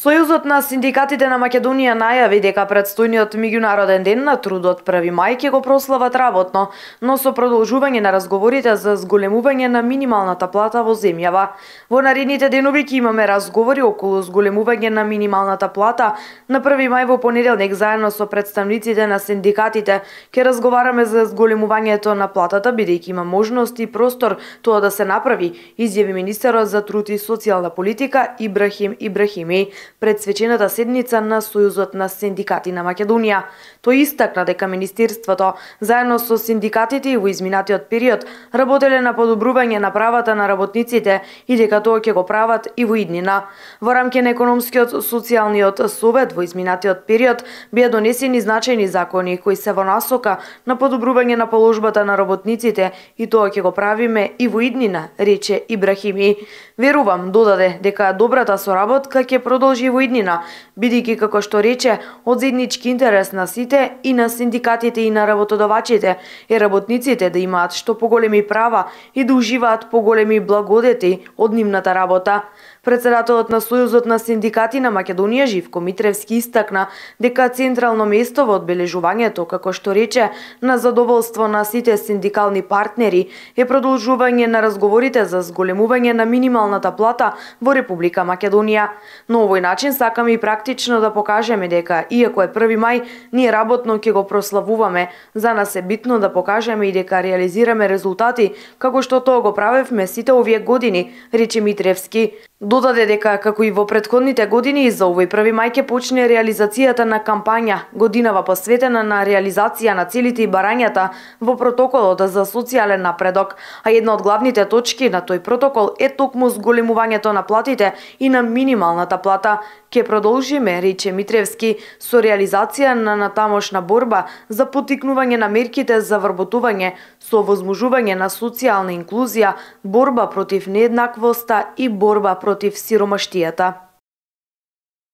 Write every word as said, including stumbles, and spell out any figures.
Сојузот на синдикатите на Македонија најави дека претстојниот меѓународен ден на трудот први мај ќе го прослават работно, но со продолжување на разговорите за зголемување на минималната плата во земјава. Во наредните денови ќе имаме разговори околу зголемување на минималната плата. На први мај во понеделник заедно со представниците на синдикатите ќе разговараме за зголемувањето на платата, бидејќи има можност и простор тоа да се направи, изјави министерот за труд и социјална политика Ибрахим Ибрахими пред свечената седница на Сојузот на синдикати на Македонија. Тој истакна дека министерството заедно со синдикатите во изминатиот период работеле на подобрување на правата на работниците и дека тоа ќе го прават и во иднина. Во рамки на економскиот социјалниот совет во изминатиот период беа донесени значајни закони кои се во насока на подобрување на положбата на работниците и тоа ќе го правиме и во иднина, рече Ибрахими. Верувам, додаде, дека добрата соработка ќе продолжи во иднина, бидејќи како што рече, од заеднички интерес на сите и на синдикатите и на работодавачите е работниците да имаат што поголеми права и да уживаат поголеми благодети од нивната работа. Председателот на Сојузот на синдикати на Македонија Живко Митревски истакна дека централно место во одбележувањето, како што рече, на задоволство на сите синдикални партнери е продолжување на разговорите за зголемување на минималната плата во Република Македонија. Но овој начин сакаме и практично да покажеме дека, иако е први мај, ние работно ќе го прославуваме. За нас е битно да покажеме и дека реализираме резултати, како што тоа го правевме сите овие години, рече Митревски. Додаде дека, како и во претходните години, за овој први мај ќе почне реализацијата на кампања, годинава посветена на реализација на целите и барањата во протоколот за социјален напредок, а една од главните точки на тој протокол е токму зголемувањето на платите и на минималната плата. Ке продолжиме, рече Митревски, со реализација на натамошна борба за поттикнување на мерките за вработување, со возможување на социјална инклузија, борба против нееднаквоста и борба против сиромаштијата.